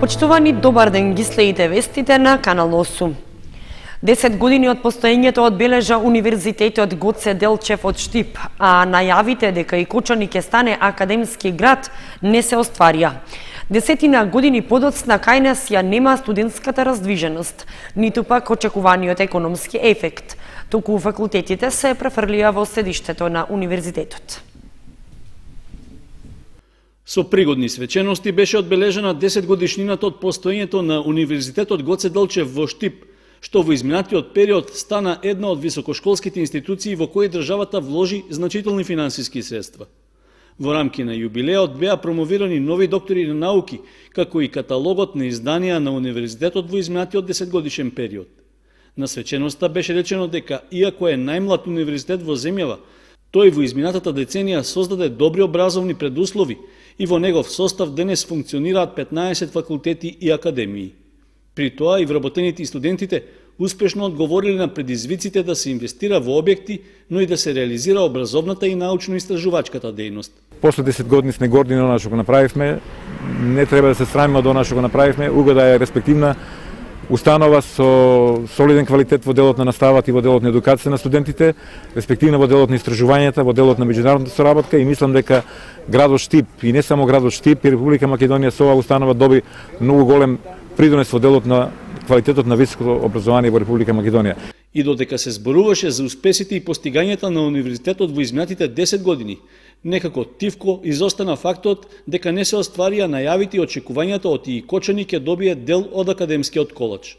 Почитувани, добар ден, ги следите вестите на Канал 8. 10 години од постоењето одбележа Универзитетот Гоце Делчев од Штип, а најавите дека и Кочани ќе стане академски град не се остварија. 10 години подоцна кај нас ја нема студентската раздвиженост, ниту пак очекуваниот економски ефект, туку факултетите се префрлија во седиштето на универзитетот. Со пригодни свечености беше одбележена 10 годишнината од постоењето на Универзитетот Гоце Делчев во Штип, што во изминатиот период стана една од високошколските институции во кои државата вложи значителни финансиски средства. Во рамки на јубилеот беа промовирани нови доктори на науки, како и каталогот на изданија на универзитетот во изминатиот 10 годишен период. На свеченоста беше речено дека, иако е најмлад универзитет во земјава, тој во изминатата деценија создаде добри образовни предуслови и во негов состав денес функционираат 15 факултети и академии. При тоа и вработените и студентите успешно одговориле на предизвиците да се инвестира во објекти, но и да се реализира образовната и научно-истражувачката дејност. После 10 години сме горди на она што го направивме, не треба да се срамиме од она што го направивме, угода е респективна установа со солиден квалитет во делот на наставата и во делот на едукација на студентите, респективно во делот на истражувањата, во делот на меѓународната соработка, и мислам дека градот Штип и не само градот Штип и Република Македонија со оваа установа доби многу голем придонес во делот на квалитетот на високо образование во Република Македонија. И додека се зборуваше за успесите и постигањата на универзитетот во изминатите 10 години, некако тивко изостана фактот дека не се остварија најавите и очекувањата од и Кочани ќе добие дел од академскиот колеж.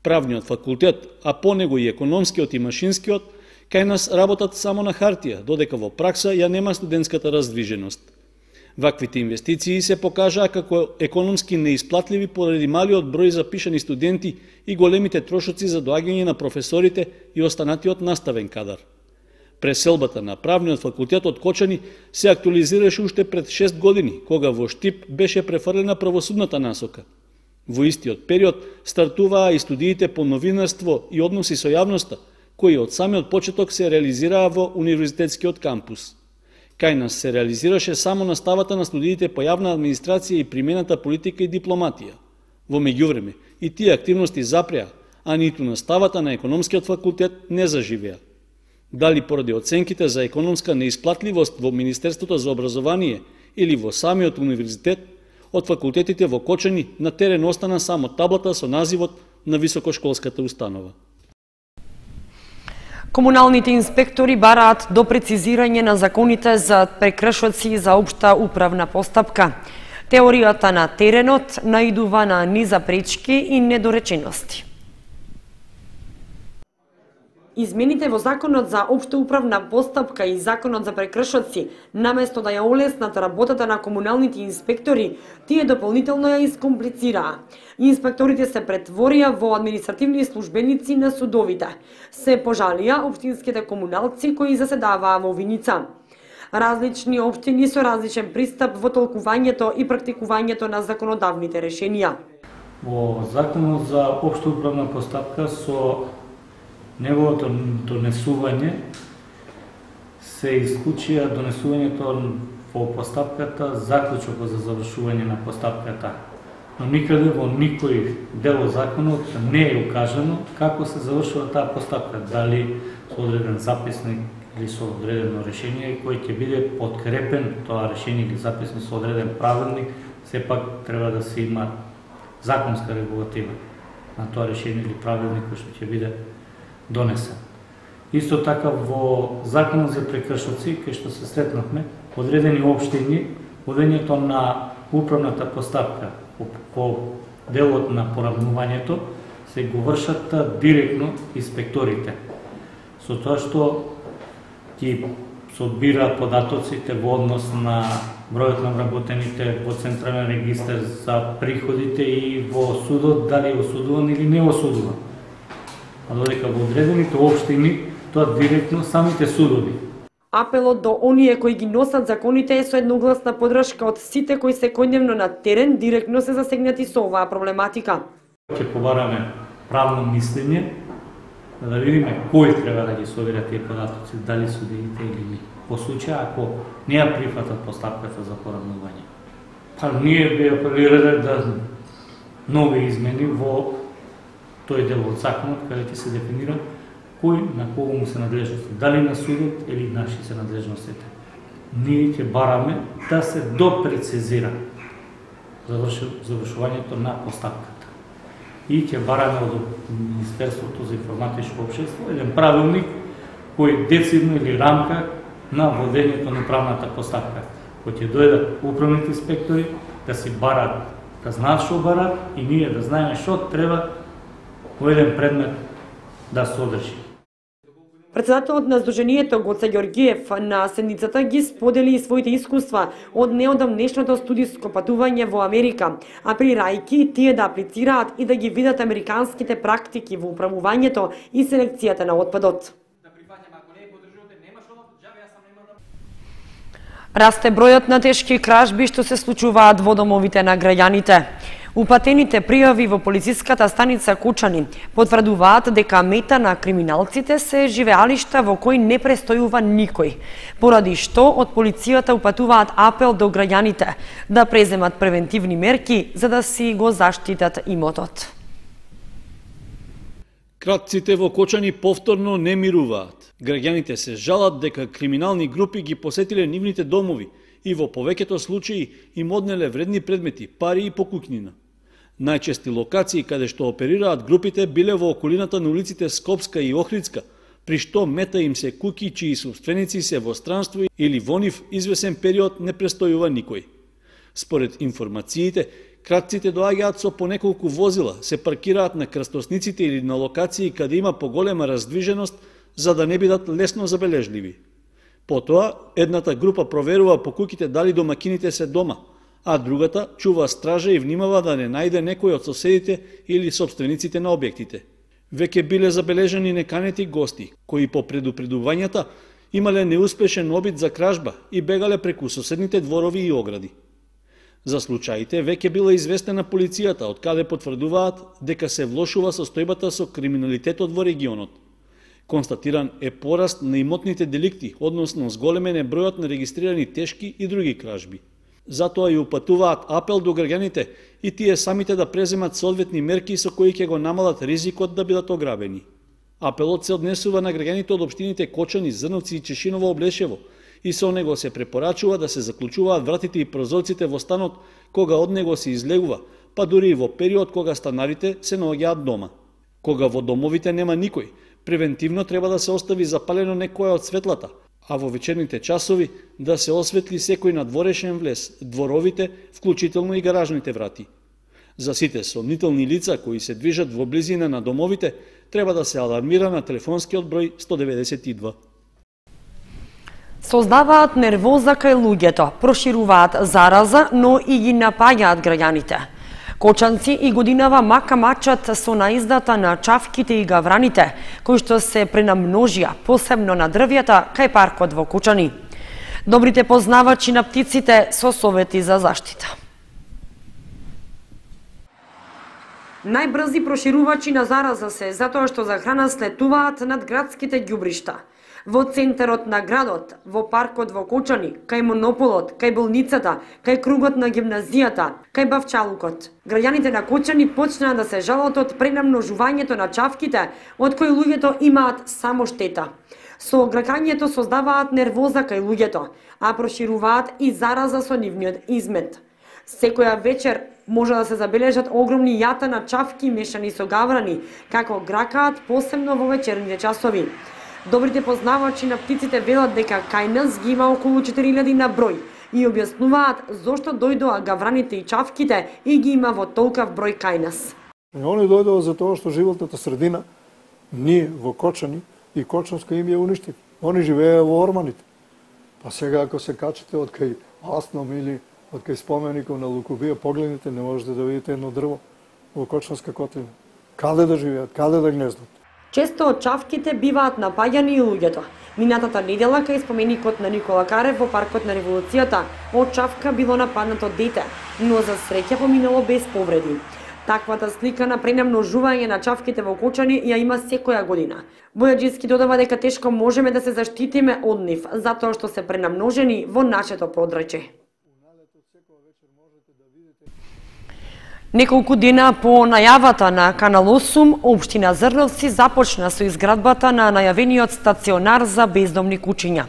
Правниот факултет, а по него и економскиот и машинскиот, кај нас работат само на хартија, додека во пракса ја нема студентската раздвиженост. Ваквите инвестиции се покажаа како економски неисплатливи поради малиот број запишани студенти и големите трошоци за доаѓање на професорите и останатиот наставен кадар. Преселбата на правниот факултет од Кочани се актуализираше уште пред 6 години, кога во Штип беше префрлена правосудната насока. Во истиот период стартуваа и студиите по новинарство и односи со јавноста, кои од самиот почеток се реализираа во универзитетскиот кампус. Кај нас се реализираше само наставата на студиите по јавна администрација и примената политика и дипломатија. Во меѓувреме, и тие активности запреа, а ниту наставата на економскиот факултет не заживеа. Дали поради оценките за економска неисплатливост во Министерството за образование или во самиот универзитет, од факултетите во Кочани на терен остана само таблата со називот на високошколската установа. Комуналните инспектори бараат до прецизирање на законите за прекршоци за општа управна постапка. Теоријата на теренот наидува на низа пречки и недоречености. Измените во Законот за општа управна постапка и Законот за прекршоци, наместо да ја олеснат работата на комуналните инспектори, тие дополнително ја искомплицираа. Инспекторите се претворија во административни службеници на судовите. Се пожалија општинските комуналци кои заседаваа во Виница. Различни општини со различен пристап во толкувањето и практикувањето на законодавните решенија. Во Законот за општа управна постапка со неговото донесување се исклучија донесувањето во постапката, заклучокот за завршување на постапката. Но никаде во никој дел од законот не е укажано како се завршува таа постапка, дали со одреден записник или со одредено решение кој ќе биде подкрепен тоа решение или записник со одреден правилник, сепак треба да се има законска регулатива на тоа решение или правилник кој што ќе биде донесен. Исто така во Законот за прекршоци, кај што се сретнавме, одредени општини, водењето на управната постапка по делот на поравнувањето се го вршат директно инспекторите. Со тоа што ги собира податоците во однос на бројот на вработените во Централен регистар за приходите и во судот, дали е осудуван или не осудуван. А додека во одредените општини тоа директно самите судови. Апелот до оние кои ги носат законите е со едногласна поддршка од сите кои секојдневно на терен директно се засегнати со оваа проблематика. Ќе побараме правно мислење, да видиме кој треба да ги собира тие податоци, дали судиите или не. Во случај ако не ја прифатат постапката за поравнување. Па ние би апелирале да нови измени во тој дел од законот каде ќе се дефинира кој на кого му се надлежности, дали на судот или наши се надлежностите. Ние ќе бараме да се допрецизира завршувањето на постапката. И ќе бараме од Министерството за информатичко општество еден правилник кој децидно или рамка на водењето на правната постапка. Кој ќе дојдат управните инспектори да си барат, да знаат што барат и ние да знаеме што треба во еден предмет да се одржи. Председателот на Сдруженијето Гоце Ѓоргиев на седницата ги сподели и своите искуства од неодамнешното студиско патување во Америка, апелирајќи тие да аплицираат и да ги видат американските практики во управувањето и селекцијата на отпадот. Расте бројот на тешки кражби што се случуваат во домовите на граѓаните. Упатените пријави во полициската станица Кучани потврдуваат дека мета на криминалците се живеалишта во кои не престојува никој, поради што од полицијата упатуваат апел до граѓаните да преземат превентивни мерки за да си го заштитат имотот. Кратците во Кочани повторно не мируваат. Граѓаните се жалат дека криминални групи ги посетиле нивните домови и во повеќето случаи им однеле вредни предмети, пари и покукнина. Најчести локации каде што оперираат групите биле во околината на улиците Скопска и Охридска, при што мета им се куки чии собственици се во странство или во нив извесен период не престојува никој. Според информациите, кратците доаѓаат со по неколку возила, се паркираат на крстосниците или на локации каде има поголема раздвиженост за да не бидат лесно забележливи. Потоа, едната група проверува по куќите дали домакините се дома, а другата чува стража и внимава да не најде некој од соседите или собствениците на објектите. Веќе биле забележани неканети гости, кои по предупредувањата имале неуспешен обид за кражба и бегале преку соседните дворови и огради. За случаите веќе била известена полицијата, од каде потврдуваат дека се влошува состојбата со криминалитетот во регионот. Констатиран е пораст на имотните деликти, односно зголемен е бројот на регистрирани тешки и други кражби. Затоа и упатуваат апел до граѓаните и тие самите да преземат соодветни мерки со кои ќе го намалат ризикот да бидат ограбени. Апелот се однесува на граѓаните од општините Кочани, Зрновци и Чешиново Облешево и со него се препорачува да се заклучуваат вратите и прозорците во станот кога од него се излегува, па дури и во период кога станарите се наоѓаат дома. Кога во домовите нема никој, превентивно треба да се остави запалено некоја од светлата, а во вечерните часови да се осветли секој надворешен влез, дворовите, вклучително и гаражните врати. За сите сомнителни лица кои се движат во близина на домовите, треба да се алармира на телефонскиот број 192. Создаваат нервоза кај луѓето, прошируваат зараза, но и ги напаѓаат граѓаните. Кочанци и годинава мака мачат со наиздата на чавките и гавраните, кои што се пренамножија, посебно на дрвјата, кај паркот во Кучани. Добрите познавачи на птиците со совети за заштита. Најбрзи проширувачи на зараза се затоа што за храна слетуваат над градските ѓубришта. Во центарот на градот, во паркот во Кочани, кај монополот, кај болницата, кај кругот на гимназијата, кај бавчалукот. Граѓаните на Кочани почнаа да се жалат од пренамножувањето на чавките, од кои луѓето имаат само штета. Со гракањето создаваат нервоза кај луѓето, а прошируваат и зараза со нивниот измет. Секоја вечер може да се забележат огромни јата на чавки мешани со гаврани, како гракаат посебно во вечерните часови. Добрите познавачи на птиците велат дека кај нас ги има околу 4000 на број и објаснуваат зошто дојдоа гавраните и чавките и ги има во толкав број кај нас. Они дојдоа за тоа што животната средина, ние во Кочани и Кочанска им ја уништив. Они живееа во орманите. Па сега ако се качите од кај Асном или од кај спомеников на Лукубија, погледнете, не можете да видите едно дрво во Кочанска котлина. Каде да живеат, каде да гнездат? Често од чавките биваат напаѓани и луѓето. Минатата недела кај споменикот на Никола Карев во паркот на Револуцијата, од чавка било нападнато дете, но за среќа поминало без повреди. Таквата слика на пренамножување на чавките во Кочани ја има секоја година. Бојаджиски додава дека тешко можеме да се заштитиме од нив, затоа што се пренамножени во нашето подрачје. Неколку дена по најавата на Канал 8, општина Зрновци започна со изградбата на најавениот стационар за бездомни куќиња.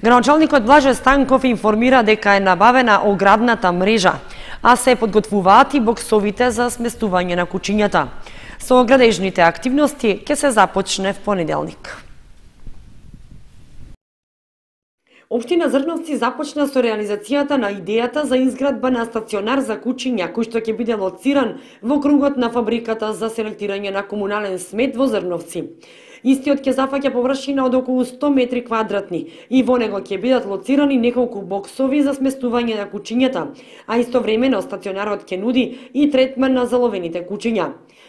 Градоначалникот Блаже Станков информира дека е набавена оградната мрежа, а се подготвуваат и боксовите за сместување на куќињата. Со градежните активности ќе се започне в понеделник. Општина Зрновци започна со реализацијата на идејата за изградба на стационар за куќиња, кој што ќе биде лоциран во кругот на фабриката за селектирање на комунален смет во Зрновци. Истиот ќе зафаќа површина од околу 100 метри квадратни и во него ќе бидат лоцирани неколку боксови за сместување на куќињата, а истовремено стационарот ќе нуди и третман на заловените куќиња.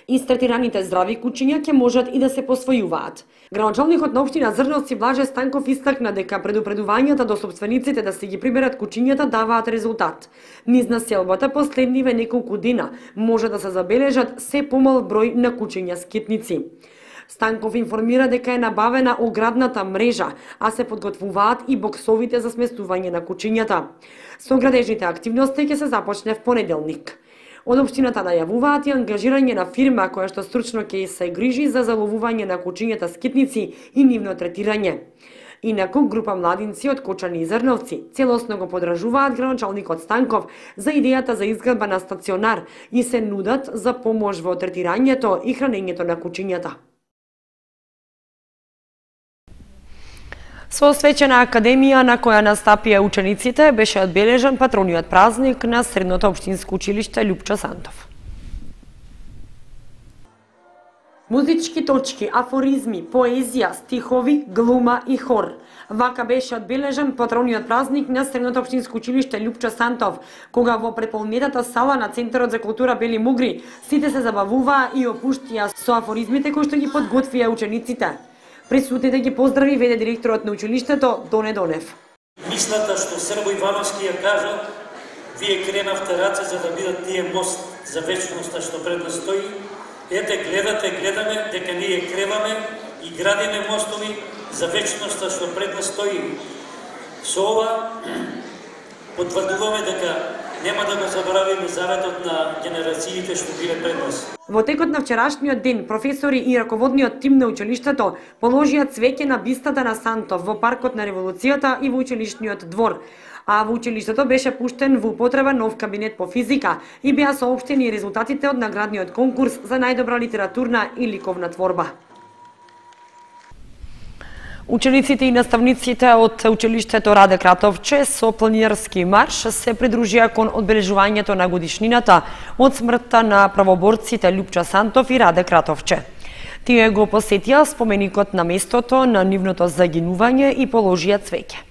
Истретираните здрави куќиња ќе можат и да се посвојуваат. Градоначалникот на општина Зрновци Блаже Станков истакна дека предупредувањата до собствениците да се ги приберат куќињата даваат резултат. Низ населбата последниве неколку дена може да се забележат се помал број на куќиња скитници. Станков информира дека е набавена оградната мрежа, а се подготвуваат и боксовите за сместување на куќињата. Со градежните активности ќе се започне в понеделник. Од општината најавуваат и ангажирање на фирма која што стручно ќе се грижи за заловување на куќињата скитници и нивно третирање. Инаку, група младинци од Кочани и Зрновци целосно го подражуваат градоначалникот Станков за идејата за изградба на стационар и се нудат за помош во третирањето и хранењето на куќињата. Со свечена академија на која настапија учениците беше одбележан патрониот празник на Средното општинско училиште Љупчо Сантов. Музички точки, афоризми, поезија, стихови, глума и хор. Вака беше одбележан патрониот празник на Средното општинско училиште Љупчо Сантов, кога во преполнетата сала на Центарот за култура Бели Мугри сите се забавуваа и опуштија со афоризмите кои што ги подготвија учениците. Присутните ги поздрави веде директорот на училиштето Доне Донев. Мислата што Србо Ивановски ја кажа, вие кренавте раце за да бидат тие мост за вечноста што пред нас стои. Ете, гледаме дека ние креваме и градиме мостови за вечноста што пред нас стои. Со ова потврдуваме дека нема да го заборавиме заветот на генерациите што биле пред нас. Во текот на вчерашниот ден, професори и раководниот тим на училиштето положија цвеќе на бистата на Сантов во паркот на Револуцијата и во училишниот двор. А во училиштето беше пуштен во употреба нов кабинет по физика и беа соопштени резултатите од наградниот конкурс за најдобра литературна и ликовна творба. Учениците и наставниците од училиштето Раде Кратовче со планинарски марш се придружија кон одбележувањето на годишнината од смртта на правоборците Љупчо Сантов и Раде Кратовче. Тие го посетија споменикот на местото на нивното загинување и положија цвеќе.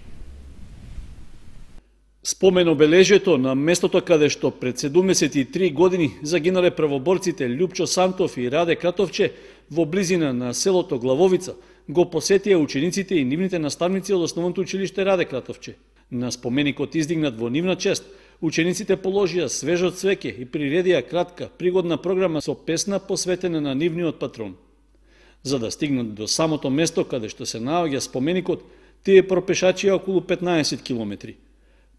Спомен обележето на местото каде што пред 73 години загинале правоборците Љупчо Сантов и Раде Кратовче во близина на селото Главовица го посетија учениците и нивните наставници од основното училиште Раде Кратовче. На споменикот издигнат во нивна чест, учениците положија свежо цвеќе и приредија кратка, пригодна програма со песна посветена на нивниот патрон. За да стигнат до самото место каде што се наоѓа споменикот, тие пропешачија околу 15 километри.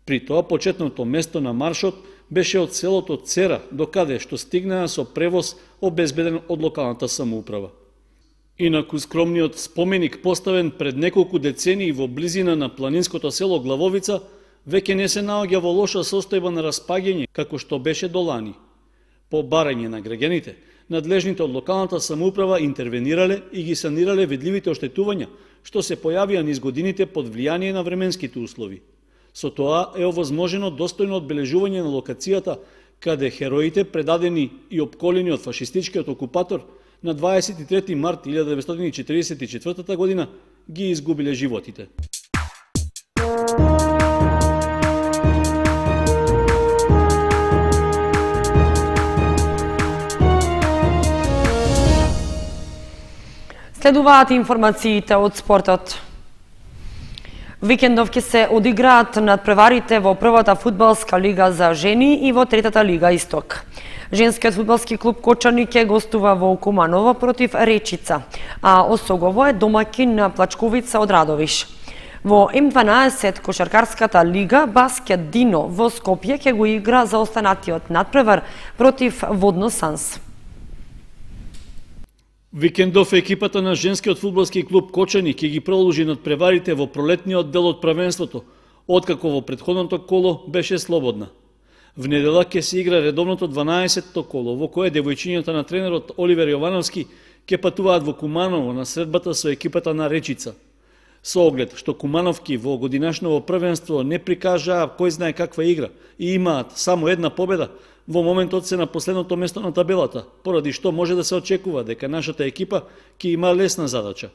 При тоа почетното место на маршот беше од селото Цера, до каде што стигнаа со превоз обезбеден од локалната самоуправа. Инаку скромниот споменик поставен пред неколку децении во близина на планинското село Главовица веќе не се наоѓа во лоша состојба на распаѓање како што беше до лани. По барање на граѓаните, надлежните од локалната самоуправа интервенирале и ги санирале видливите оштетувања што се појавија низ годините под влијание на временските услови. Со тоа е овозможено достојно одбележување на локацијата каде хероите предадени и опколени од фашистичкиот окупатор на 23 март 1944 година ги изгубиле животите. Следуваат информациите од спортот. Викендов ќе се одиграат надпреварите во првата фудбалска лига за жени и во третата лига Исток. Женскиот фудбалски клуб Кочани ќе гостува во Куманово против Речица, а Осогово е домаќин на Плачковица од Радовиш. Во М12 кошаркарската лига Баскет Дино во Скопје ќе го игра за останатиот надпревар против Водно Санс. Викендов екипата на женскиот фудбалски клуб Кочани ќе ги продолжи надпреварите во пролетниот дел од првенството, откако во претходното коло беше слободна. В недела ќе се игра редовното 12-то коло, во кое девојчињата на тренерот Оливер Јовановски ќе патуваат во Куманово на средбата со екипата на Речица. Со оглед што Кумановки во годинашново првенство не прикажаа кој знае каква игра и имаат само една победа, во моментот се на последното место на табелата, поради што може да се очекува дека нашата екипа ќе има лесна задача.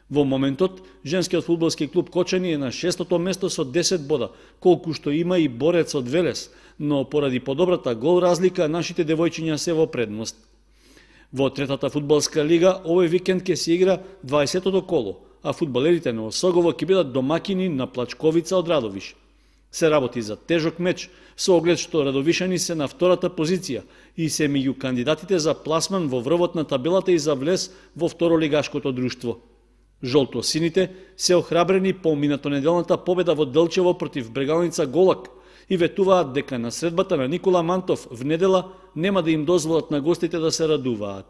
Во моментот, женскиот фудбалски клуб Кочани е на 6-то место со 10 бода, колку што има и борец од Велес, но поради подобрата гол разлика, нашите девојчиња се во предност. Во третата фудбалска лига, овој викенд ќе се игра 20-то коло, а фудбалерите на Осогово ќе бидат домакини на Плачковица од Радовиш. Се работи за тежок меч, со оглед што радовишани се на втората позиција и се меѓу кандидатите за пласман во врвот на табелата и за влез во второлигашкото друштво. Жолто-сините се охрабрени по минатонеделната победа во Делчево против Брегалница Голак и ветуваат дека на средбата на Никола Мантов в недела нема да им дозволат на гостите да се радуваат.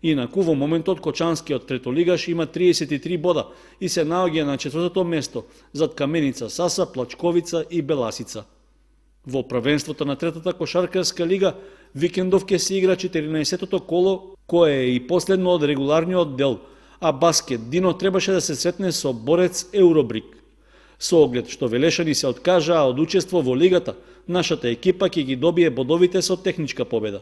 Инаку во моментот Кочанскиот третолигаш има 33 бода и се наоѓа на 4-то место зад Каменица, Саса, Плачковица и Беласица. Во првенството на третата кошаркарска лига викендов ќе се игра 14-то коло, кое е и последно од регуларниот дел, а Баскет Дино требаше да се сретне со борец Евробрик. Со оглед што велешани се откажаа од учество во лигата, нашата екипа ќе ги добие бодовите со техничка победа.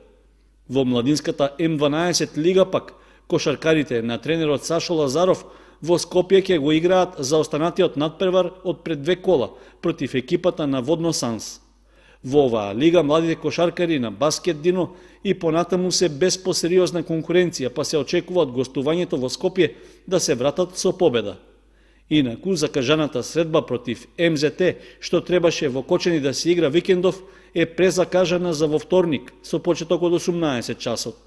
Во младинската М12 лига пак, кошаркарите на тренерот Сашо Лазаров во Скопје ќе го играат за останатиот надпревар од пред 2 кола против екипата на Водно Санс. Во оваа лига младите кошаркари на Баскет Дино и понатаму се без посериозна конкуренција, па се очекува од гостувањето во Скопје да се вратат со победа. Инаку закажаната средба против МЗТ, што требаше во Кочани да се игра викендов, е презакажана за во вторник со почеток од 18 часот.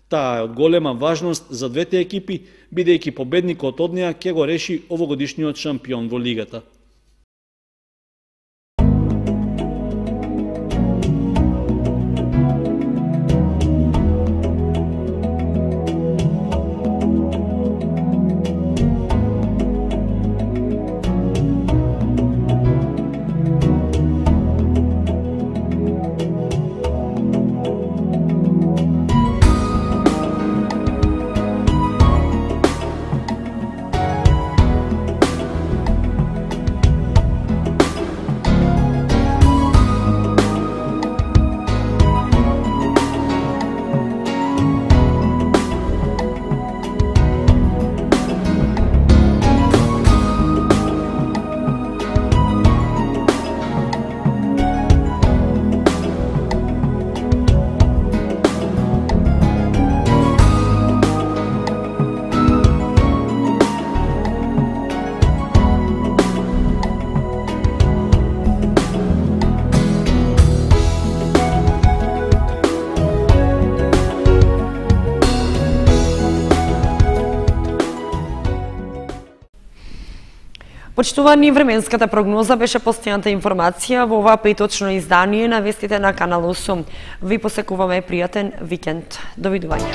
Таа е од голема важност за двете екипи, бидејќи победникот од неа ќе го реши овогодишниот шампион во лигата. Почитувани, временската прогноза беше последната информација во ова петочно издание на вестите на Канал 8. Ви посекуваме пријатен викенд. Довидување.